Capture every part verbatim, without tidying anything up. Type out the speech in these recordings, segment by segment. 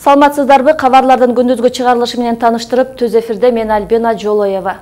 Саламатсыздарбы, кабарлардын күндүзгү чыгарылышы менен таныштырып, түз эфирде мен Альбина Жолоева.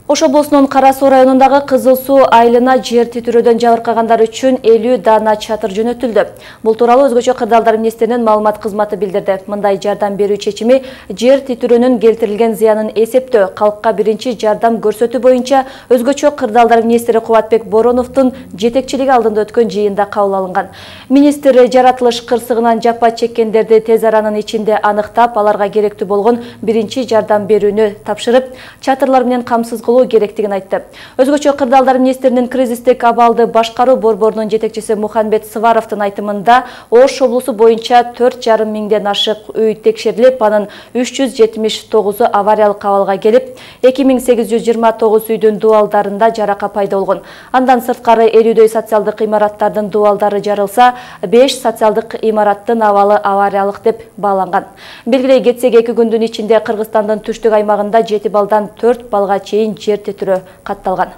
Ош облусунун Кара Суу районундагы Кызыл Суу айылына жер титирөөдөн жабыркагандар үчүн элүү дана чатыр жөнөтүлдү. Бул тууралуу Өзгөчө кырдаалдар министринин маалымат кызматы билдирди. Мындай жардам берүү чечими жер титирөөнүн келтирилген зыянын эсептөө, калкка биринчи жардам көрсөтүү боюнча Өзгөчө кырдаалдар министри Кубатбек Бороновдун жетекчилиги алдында өткөн жыйында кабыл алынган. Министр жаратылыш кырсыгынан жапа чеккендерди тез аранын ичинде аныктап, аларга керектүү болгон биринчи жардам берүүнү тапшырып, чатырлар менен камсыз керектигин айтты. Өзгөчө кырдаалдар министринин кризистик абалды башкаруу борборунун жетекчиси Мухамбет Сваровдун айтымында Ош облусу боюнча төрт жарым миңден ашык үй текшерилип, анын үч жүз жетимиш тогузу авариялык абалга келип, эки миң сегиз жүз жыйырма тогуз үйдүн дубалдарында жарака пайда болгон. Андан сырткары элүүдөй социалдык имараттардын дубалдары жарылса, беш социалдык имараттын абалы авариялык деп бааланган. Белгилей кетсек, эки күндүн ичинде Кыргызстандын түштүк аймагында жети балдан төрт балга чейин жер титирөө катталган.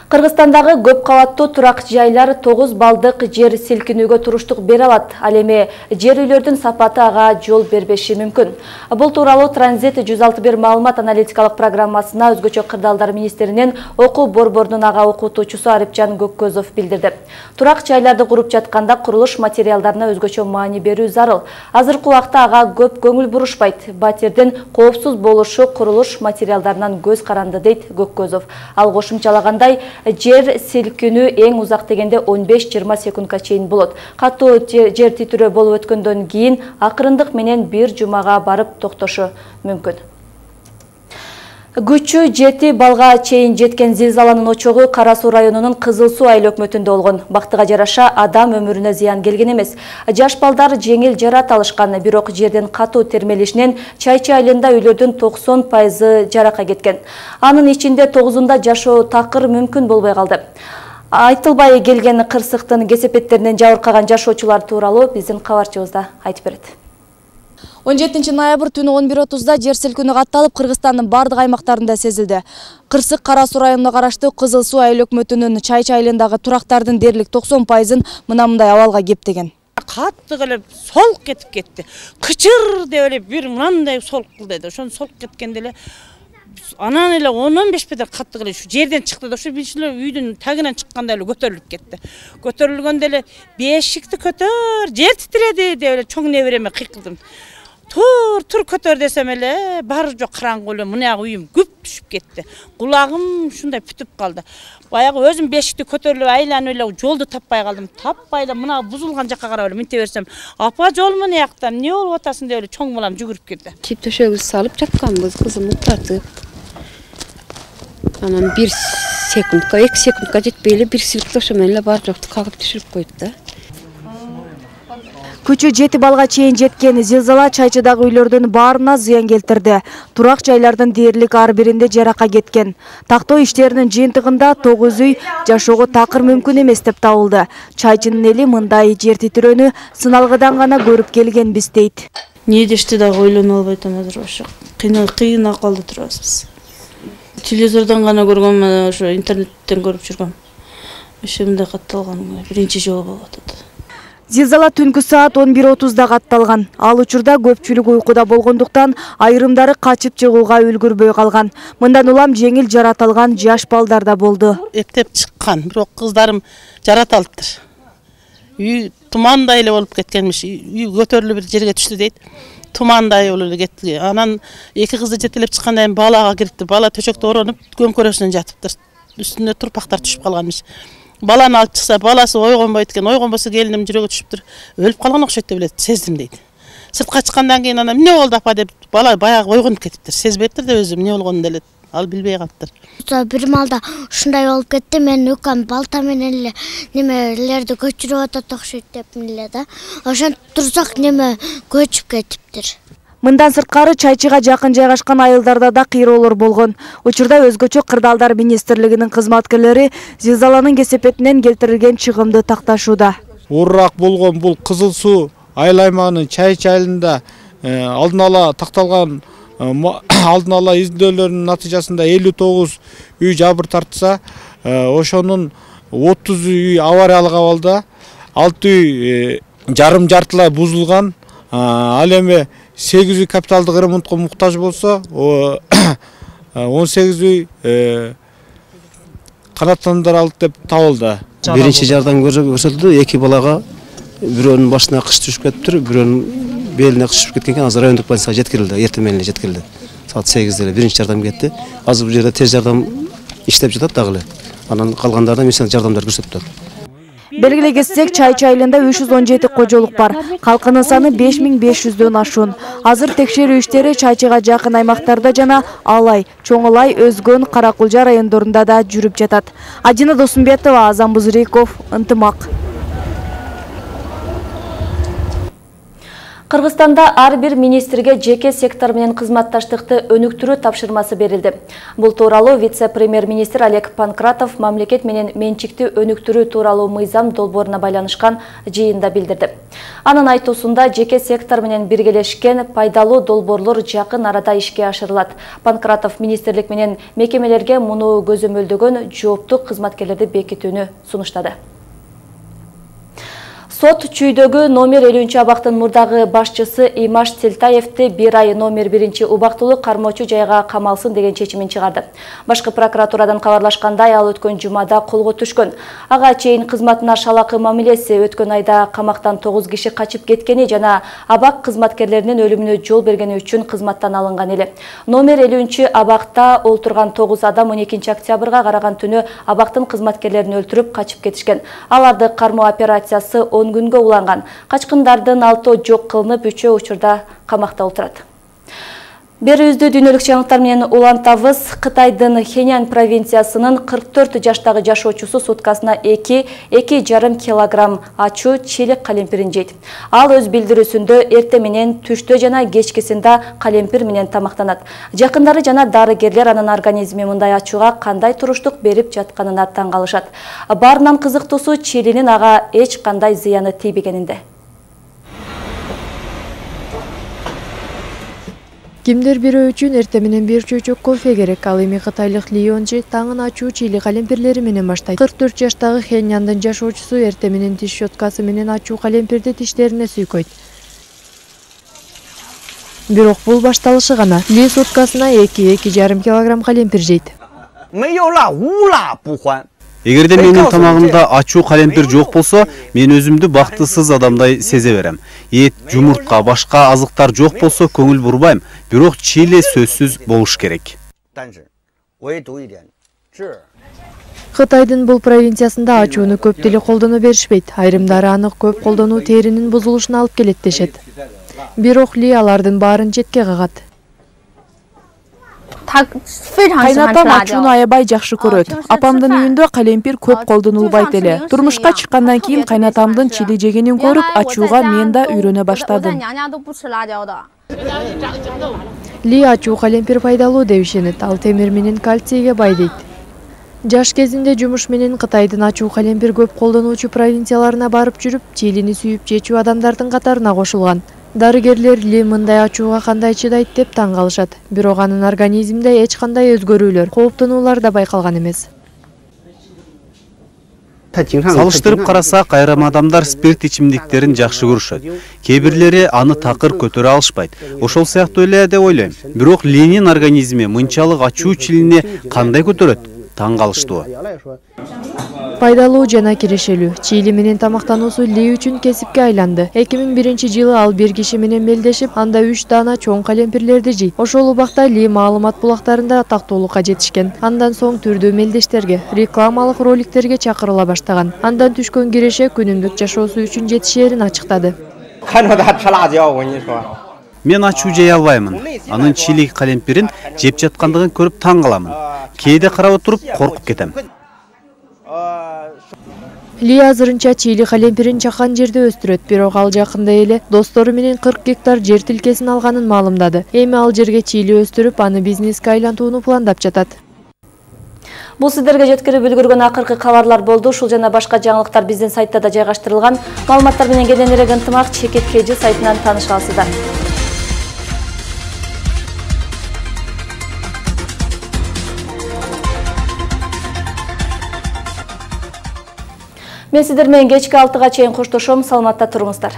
Кыргызстандагы көп кабаттуу турак жайлар тогуз балдык жер силкинүүгө туруштук бере алат. Ал эми жер үйлөрдүн сапаты ага жол бербеши мүмкүн. Бул тууралуу Транзит жүз алтымыш бир маалымат аналитикалык программасына Өзгөчө кырдаалдар министринин окуу борборунун ага окутуучусу Арипжан Көккөзов билдирди. Турак жайларды куруп жатканда курулуш материалдарына өзгөчө маани берүү зарыл. Азыркы убакта ага көп көңүл бурушпайт. Батирдин коопсуз болушу курулуш материалдарынан көз каранды, дейт Көккөзов. Ал кошумчалагандай, жер силкинүү эң узак дегенде он беш жыйырма секундка чейин болот. Катуу жер титирөө болуп өткөндөн кийин акырындык менен бир жумага барып токтошу мүмкүн. Күчү жети балга чейин жеткен зилзаланын очогу Кара Суу районунун Кызыл Суу айыл өкмөтүндө болгон. Бактыга жараша адам өмүрүнө зыян келген эмес. Жаш балдар жеңил жарат алышкан, бирок жердин катуу термелишинен Чайчы айылында үйлөрдүн токсон пайызы жарака кеткен. Анын ичинде тогузунда жашоо такыр мүмкүн болбой калды. Айтылбай келген кырсыктын кесепеттеринен жабыркаган жашоочулар тууралуу биздин кабарчыбызда айтып берет. он жетинчи ноябрь түнү он бир отузда жер силкинүү катталып, Кыргызстандын бардык аймактарында сезилди. Кырсык Кара Суу районуна караштуу Кызыл Суу айыл өкмөтүнүн Чайчы айылындагы турактардын дээрлик токсон пайызын мына-мындай абалга кептеген. Катты эле солук кетип кетти. Кычыр деп эле бир мындай солук кылды. Ошону солук кеткенде эле анан эле он он беш метр катты эле ушу жерден чыкты да, ушу бишиле үйдүн тагынан чыкканда эле көтөрүлүп кетти. Көтөрүлгөндө эле бешикти көтөр, жер титиреди деп эле чоң небереме кыйкылдым. Тур, тур көтөр десем эле, бары жок караңгы эле, мына үйүм күп түшүп кетти. Кулагым ушундай бүтүп калды. Баягы өзүм бешикти көтөрүлүп айланып эле жолду таппай калдым. Таппай эле мына бузулган жакка карап эле минте берсем, апа жол мына жакта, эмне болуп атасың деп эле чоң балам жүгүрүп келди. Чип төшөгүбүздү салып жатканбыз, кызым уктатып. Анан бир секундка, эки секундка жетпей эле бир силкилеп ошо менен эле бар жокту кагып түшүрүп койду да. Күчү жети балга чейин жеткен зилзала Чайчыдагы үйлөрдүн баарына зыян келтирди. Турак жайлардын дээрлик ар биринде жарака кеткен. Тактоо иштеринин жыйынтыгында тогуз үй жашоого такыр мүмкүн эмес деп табылды. Чайчынын эли мындай жер титирөөнү сыналгыдан гана көрүп келгенбиз, дейт. Не дешти дагы ойлоно албай атам азыр ошо. Кыйын кыйын акыбалда турабыз биз. Телевизордон гана көргөм, ошо интернеттен көрүп жүргөм. Ошо мындай катталган биринчи жолу болуп атат. Зилзала түнкү саат он бир отузда катталган. Ал учурда көпчүлүк уйкуда болгондуктан айрымдары качып чыгууга үлгүрбөй калган. Мындан улам жеңил жарат алган жаш балдар да болду. Эптеп чыккан, бирок кыздарым жарат алыптыр. Үй тумандай эле болуп кеткенмиш. Үй көтөрүлүп бир жерге түштү дейт. Тумандай болуп эле кетти. Анан эки кызды жетелеп чыккандан кийин балага кирипти. Бала төшөктө оронуп, көмкөрөсүнөн жатыптыр. Үстүнө турпактар түшүп калганмыш. Баланы алып чыкса, баласы ойгонбойт экен. Ойгонбосо келиним жүрөгү түшүптүр. Өлүп калган окшойт деп эле сездим, дейт. Сыртка чыккандан кийин анан эмне болду апа деп бала баягы ойгонуп кетиптир. Сезбептир деп өзү эмне болгонун деле ал билбей калыптыр. Бир маалда ушундай болуп кетти. Мен укам балта менен эле немелерди көчүрүп атат окшойт деп эле да. Ошентип турсак неме көчүп кетиптир. Мындан сырткары Чайчыга жакын жайгашкан айылдарда да кыйроолор болгон. Учурда Өзгөчө кырдаалдар министрлигинин кызматкерлери зилзаланын кесепетинен келтирилген чыгымды такташууда. Оорураак болгон бул Кызыл Суу айыл аймагынын Чайчы айылында алдын ала такталган алдын ала изилдөөлөрдүн натыйжасында элүү тогуз үй жабыр тартса, ошонун отуз үй авариялык абалда, алты үй жарым жартылай бузулган, ал эми сегиз үй капиталдык ремонтко муктаж болсо, он сегиз үй канааттандырылды деп табылды. Биринчи жардам көрсөтүлдү. Эки балага бирөөнүн башына кыш түшүп кетиптир, бирөөнүн белине кыш түшүп кеткен. Азыр райондук больницага жеткирилди, эртең менен жеткирилди. Саат сегизде эле биринчи жардам кетти. Азыр бул жерде тез жардам иштеп жатат дагы эле. Анан калгандарына медицина жардамдар көрсөтүп атат. Белгилей кетсек, Чайчы айылында үч жүз он жети кожолук бар. Калкынын саны беш миң беш жүздөн ашуун. Азыр текшерүү иштери Чайчыга жакын аймактарда жана Алай, Чоңолай, Өзгөн, Каракулжа райондорунда да жүрүп жатат. Адина Досумбетова, Азам Бузуриков, Ынтымак. Кыргызстанда ар бир министрге жеке сектор менен кызматташтыкты өнүктүрүү тапшырмасы берилди. Бул тууралуу вице-премьер-министр Олег Панкратов мамлекет менен менчикти өнүктүрүү тууралуу мыйзам долбооруна байланышкан жыйында билдирди. Анын айтуусунда жеке сектор менен биргелешкен пайдалуу долбоорлор жакын арада ишке ашырылат. Панкратов министрлик менен мекемелерге муну көзөмөлдөгөн жооптук кызматкерлерди бекитүүнү сунуштады. Сот чүйдөгү номер элүүнчү абактын мурдагы башчысы Имаш Телтаевди бир ай номер биринчи убактылуу кармоочу жайга камалсын деген чечимин чыгарды. Башкы прокуратурадан кабарлашкандай, ал өткөн жумада колго түшкөн. Ага чейин кызматына шалакы мамилеси, өткөн айда камактан тогуз киши качып кеткени жана абак кызматкерлеринин өлүмүнө жол бергени үчүн кызматтан алынган эле. Номер элүүнчү абакта олтурган тогуз адам он экинчи октябрга караган түнү абактын кызматкерлерин өлтүрүп качып кетишкен. Аларды кармоо операциясы он күнгө уланган. Качкындардын алтоо жок кылынып, үчөө учурда камакта отурат. Берүүбүздү дүйнөлүк жаңылыктар менен улантабыз. Кытайдын Хэнян провинциясынын кырк төрт жаштагы жашоочусу суткасына эки эки жарым килограмм ачуу чилик калемпирин жейт. Ал өз билдирүүсүндө эртең менен, түштө жана кечкисинде калемпир менен тамактанат. Жакындары жана дарыгерлер анын организми мындай ачууга кандай туруштук берип жатканына таң калышат. Баарынан кызыктуусу чилинин ага эч кандай зыяны тийбегенинде. Кимдир бирөө үчүн эртең менен бир чөйчөк кофе керек. Ал эми кытайлык Лионжи таңын ачуу чили калемпирлери менен баштайт. кырк төрт жаштагы Хэняндын жашоочусу эртең менен тиш щеткасы менен ачуу калемпирди тиштерине сүйкөйт. Бирок бул башталышы гана. Ли суткасына эки эки жарым килограмм калемпир жейт. Эгерде менин тамагымда ачуу калемпир жок болсо, мен өзүмдү бактысыз адамдай сезе берем. Эт, жумуртка, башка азыктар жок болсо көңүл бурбайм, бирок чили сөзсүз болуш керек. Кытайдын бул провинциясында ачууну көп деле колдоно беришпейт. Айрымдары аны көп колдонуу теринин бузулушуна алып келет дешет. Бирок Ли алардын баарын четке кагат. Кайнатам ачууну аябай жакшы көрөт. Апамдын үйүндө калемпир көп колдонулбайт эле. Турмушка чыккандан кийин кайнатамдын чили жегенин көрүп, ачууга мен да үйрөнө баштадым. Ли ачуу калемпир пайдалуу деп ишенет. Ал темир менен кальцийге бай дейт. Жаш кезинде жумуш менен Кытайдын ачуу калемпир көп колдонуучу провинцияларына барып жүрүп, чилини сүйүп жечүү адамдардын катарына кошулган. Дарыгерлер Ли мындай ачууга кандай чыдайт деп таң калышат. Бирок анын организминде эч кандай өзгөрүүлөр, кооптонуулар да байкалган эмес. Салыштырып карасак, айрым адамдар спирт ичимдиктерин жакшы көрүшөт. Кээ бирлери аны такыр көтөрө алышпайт. Ошол сыяктуу эле деп ойлойм. Бирок Линин организми мынчалык ачуу чилини кандай көтөрөт? Таң калыштуу. Пайдалуу жана кирешелүү. Чили менен тамактануусу Ли үчүн кесипке айланды. эки миң биринчи жылы ал бир киши менен белдешип, анда үч даана чоң калемпирлерди жейт. Ошол убакта Ли маалымат булактарында тактоолукка жетишкен. Андан соң түрдүү мелдештерге, рекламалык роликтерге чакырыла баштаган. Андан түшкөн киреше күнүмдүк жашоосу үчүн жетишээрин ачыктады. Мен ачуу жей албаймын. Анын чили калемпирин жеп жаткандыгын көрүп таң каламын. Кээде карап отуруп коркуп кетем. Ли азырынча чили калемпирин чакан жерде өстүрөт, бирок ал жакында эле достору менен кырк гектар жер тилкесин алганын маалымдады. Эми ал жерге чили өстүрүп, аны бизнеске айлантууну пландап жатат. Бул сиздерге жеткирип үлгүргөн акыркы кабарлар болду. Ушул жана башка жаңылыктар биздин сайтта да жайгаштырылган. Маалыматтар менен кененирээк ынтымак Чекит Кежи сайтынан тааныша аласыздар. Мен сиздер менен кечки алтыга чейин коштошом. Саламатта туруңуздар.